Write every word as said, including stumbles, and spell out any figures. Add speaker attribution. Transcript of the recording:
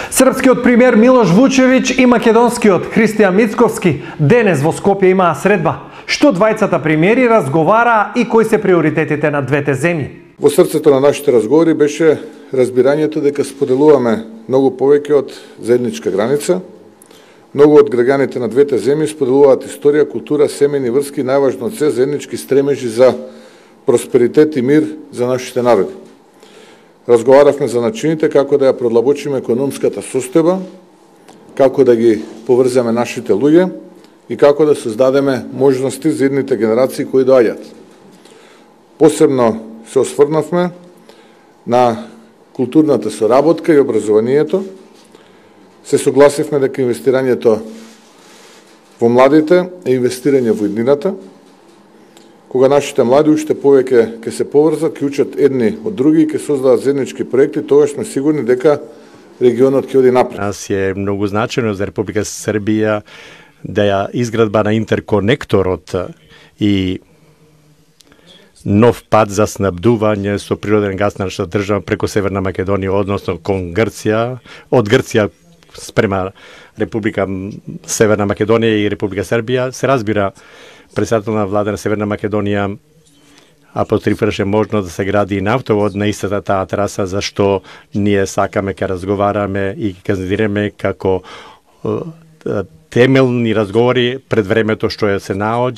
Speaker 1: Српскиот премиер Милош Вучевиќ и македонскиот Христијан Мицковски денес во Скопје имаа средба. Што двајцата премиери разговараа и кои се приоритетите на двете земји?
Speaker 2: Во срцето на нашите разговори беше разбирањето дека споделуваме многу повеќе од заедничка граница. Многу од граѓаните на двете земји споделуваат историја, култура, семејни врски, најважно од се заеднички стремежи за просперитет и мир за нашите народи. Разговаравме за начините како да ја продлабочиме економската состојба, како да ги поврземе нашите луѓе и како да создадеме можности за идните генерации кои доаѓаат. Посебно се осврнавме на културната соработка и образованието. Се согласивме дека инвестирањето во младите е инвестирање во иднината. Кога нашите млади уште повеќе ќе се поврзат, ќе учат едни од други и ќе создадат заеднички проекти, тогаш сме сигурни дека регионот ќе оди напред.
Speaker 3: Нас е многу значено за Република Србија да ја изградба на интерконекторот и нов пат за снабдување со природен газ на нашата држава преку Северна Македонија, односно кон Грција, од Грција спрема Република Северна Македонија и Република Србија. Се разбира, председател на влада на Северна Македонија апострофираше можно да се гради и нафтовод на истата таа траса, зашто ние сакаме ке разговараме и ке кандидираме како темелни разговори пред времето што се наоѓа.